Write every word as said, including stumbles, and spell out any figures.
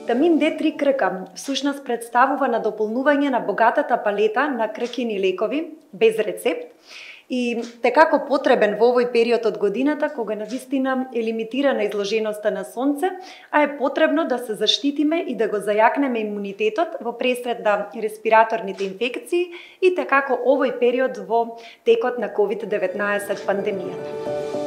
Витамин Д три крка всушност представува надополнување на богатата палета на кркини лекови без рецепт и текако потребен во овој период од годината кога навистина е лимитирана изложеноста на сонце, а е потребно да се заштитиме и да го зајакнеме имунитетот во пресред на респираторните инфекции и текако овој период во текот на ковид деветнаесет пандемијата.